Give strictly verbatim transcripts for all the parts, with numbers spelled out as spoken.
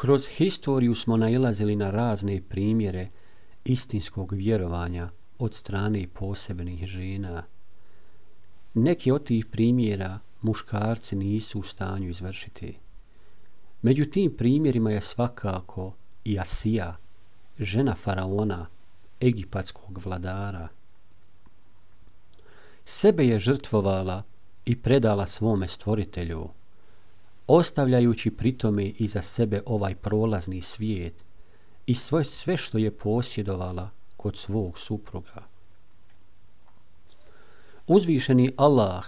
Kroz historiju smo nailazili na razne primjere istinskog vjerovanja od strane posebnih žena. Neki od tih primjera muškarci nisu u stanju izvršiti. Među tim primjerima je svakako i Asija, žena faraona, egipatskog vladara. Sebe je žrtvovala i predala svome stvoritelju, ostavljajući pritome iza sebe ovaj prolazni svijet i sve, sve što je posjedovala kod svog supruga. Uzvišeni Allah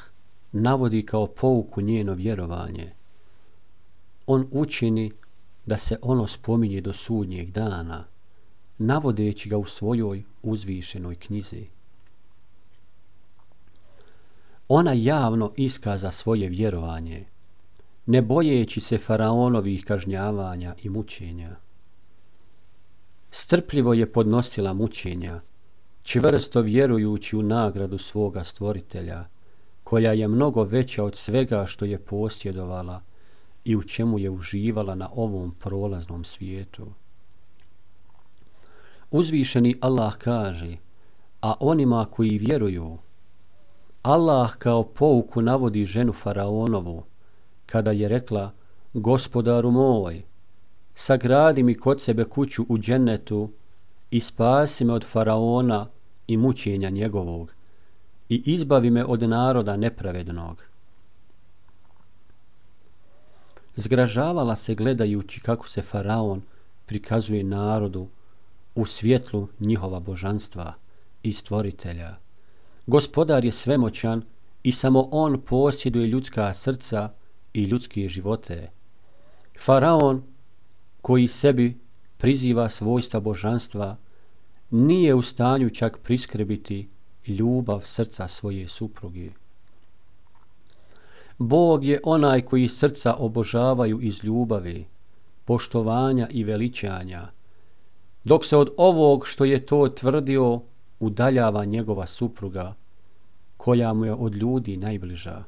navodi kao pouku njeno vjerovanje. On učini da se ono spominje do sudnjeg dana, navodeći ga u svojoj uzvišenoj knjizi. Ona javno iskaza svoje vjerovanje, ne bojeći se faraonovih kažnjavanja i mučenja. Strpljivo je podnosila mučenja, čvrsto vjerujući u nagradu svoga stvoritelja, koja je mnogo veća od svega što je posjedovala i u čemu je uživala na ovom prolaznom svijetu. Uzvišeni Allah kaže, a onima koji vjeruju, Allah kao pouku navodi ženu faraonovu, kada je rekla, gospodaru moj, sagradi mi kod sebe kuću u džennetu i spasi me od faraona i mučenja njegovog i izbavi me od naroda nepravednog. Zgražavala se gledajući kako se faraon prikazuje narodu u svjetlu njihova božanstva i stvoritelja. Gospodar je svemoćan i samo on posjeduje ljudska srca i ljudske živote. Faraon, koji sebi priziva svojstva božanstva, nije u stanju čak priskrbiti ljubav srca svoje supruge. Bog je onaj koji srca obožavaju iz ljubavi, poštovanja i veličanja, dok se od ovog što je to tvrdio udaljava njegova supruga, koja mu je od ljudi najbliža.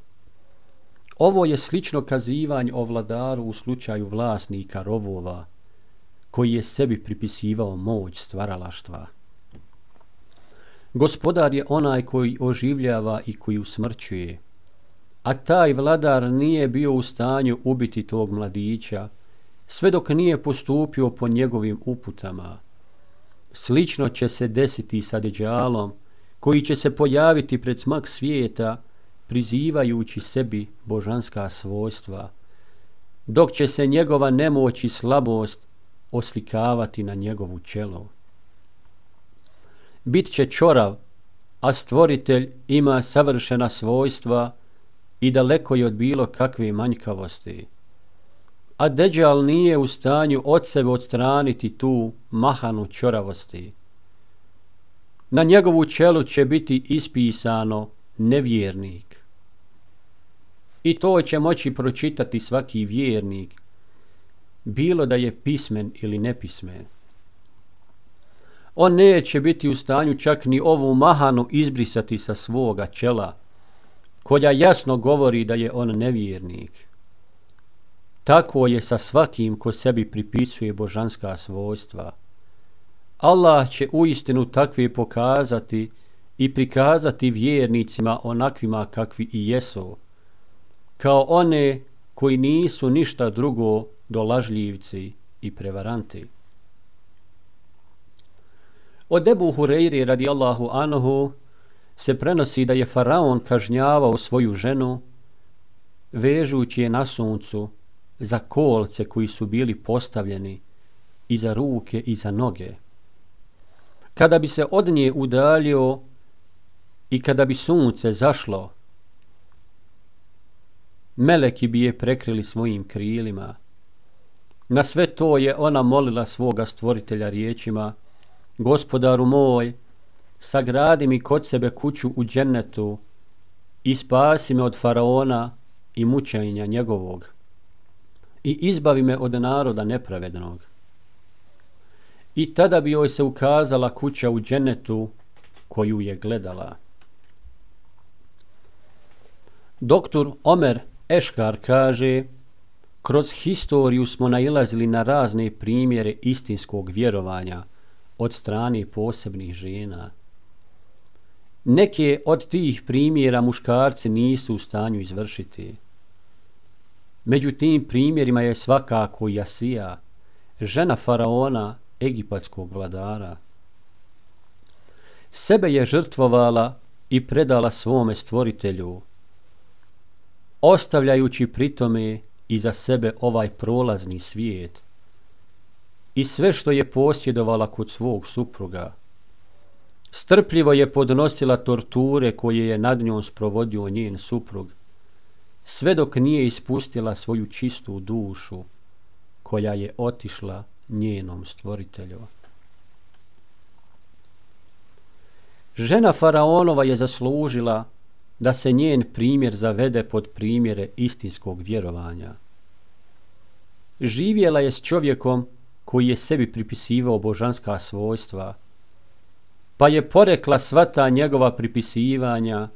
Ovo je slično kazivanje o vladaru u slučaju vlasnika rovova, koji je sebi pripisivao moć stvaralaštva. Gospodar je onaj koji oživljava i koji usmrćuje, a taj vladar nije bio u stanju ubiti tog mladića, sve dok nije postupio po njegovim uputama. Slično će se desiti sa Deđalom, koji će se pojaviti pred smak svijeta, prizivajući sebi božanska svojstva, dok će se njegova nemoć i slabost oslikavati na njegovu čelo. Bit će ćorav, a stvoritelj ima savršena svojstva i daleko je od bilo kakve manjkavosti. A Deđal nije u stanju od sebe odstraniti tu mahanu ćoravosti. Na njegovu čelu će biti ispisano nevjernik. I to će moći pročitati svaki vjernik, bilo da je pismen ili nepismen. On neće biti u stanju čak ni ovu mahanu izbrisati sa svoga čela, koja jasno govori da je on nevjernik. Tako je sa svakim ko sebi pripisuje božanska svojstva. Allah će uistinu takve pokazati i prikazati vjernicima onakvima kakvi i jesu, kao one koji nisu ništa drugo do lažljivci i prevaranti. Od Ebu Hureyri radijallahu anhu se prenosi da je faraon kažnjavao svoju ženu, vežući je na suncu za kolce koji su bili postavljeni i za ruke i za noge. Kada bi se od nje udaljio i kada bi sunce zašlo, meleki bi je prekrili svojim krilima. Na sve to je ona molila svoga stvoritelja riječima, gospodaru moj, sagradi mi kod sebe kuću u džennetu i spasi me od faraona i mučenja njegovog i izbavi me od naroda nepravednog. I tada bi joj se ukazala kuća u džennetu koju je gledala. Doktor Omer Eškar kaže, Kroz historiju smo nailazili na razne primjere istinskog vjerovanja od strane posebnih žena. Neke od tih primjera muškarci nisu u stanju izvršiti. Među tim primjerima je svakako i Asija, žena faraona, egipatskog vladara. Sebe je žrtvovala i predala svome stvoritelju, ostavljajući pritome iza sebe ovaj prolazni svijet i sve što je posjedovala kod svog supruga. Strpljivo je podnosila torture koje je nad njom sprovodio njen suprug, sve dok nije ispustila svoju čistu dušu koja je otišla njenom stvoritelju. Žena faraonova je zaslužila da se njen primjer zavede pod primjere istinskog vjerovanja. Živjela je s čovjekom koji je sebi pripisivao božanska svojstva, pa je porekla sva ta njegova pripisivanja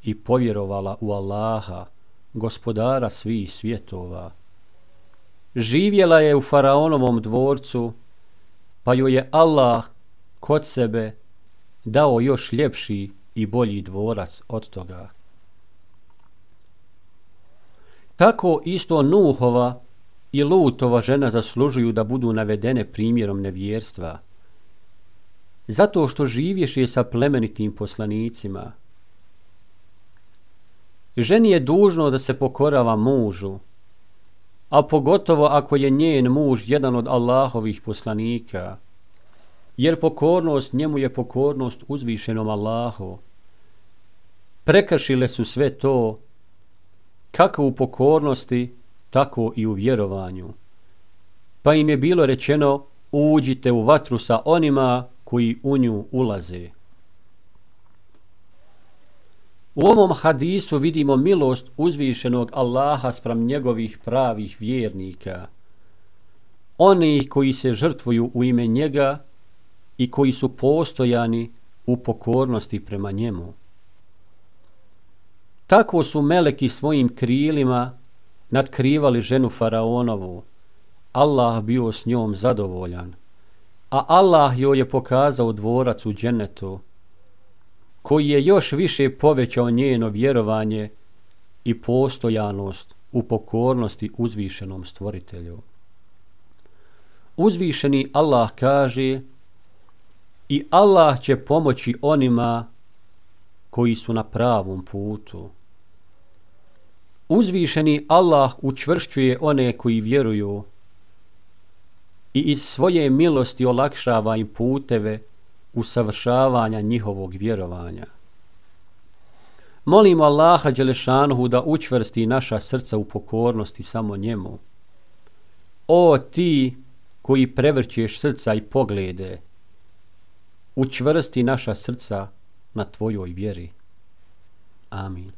i povjerovala u Allaha, gospodara svih svjetova. Živjela je u faraonovom dvorcu, pa joj je Allah kod sebe dao još ljepši i bolji dvorac od toga. Tako isto Nuhova i Lutova žena zaslužuju da budu navedene primjerom nevjerstva, zato što živješe sa plemenitim poslanicima. Ženi je dužno da se pokorava mužu, a pogotovo ako je njen muž jedan od Allahovih poslanika, jer pokornost njemu je pokornost uzvišenom Allahu. Prekršile su sve to, kako u pokornosti, tako i u vjerovanju. Pa im je bilo rečeno, uđite u vatru sa onima koji u nju ulaze. U ovom hadisu vidimo milost uzvišenog Allaha spram njegovih pravih vjernika, oni koji se žrtvuju u ime njega i koji su postojani u pokornosti prema njemu. Tako su meleki svojim krilima natkrivali ženu faraonovu. Allah bio s njom zadovoljan, a Allah joj je pokazao dvorac u džennetu, koji je još više povećao njeno vjerovanje i postojanost u pokornosti uzvišenom stvoritelju. Uzvišeni Allah kaže: i Allah će pomoći onima koji su na pravom putu. Uzvišeni Allah učvršćuje one koji vjeruju i iz svoje milosti olakšava im puteve usavršavanja njihovog vjerovanja. Molimo Allaha Đelešanuhu da učvrsti naša srca u pokornosti samo njemu. O ti koji prevrćeš srca i poglede, učvrsti naša srca na tvojoj vjeri. Amin.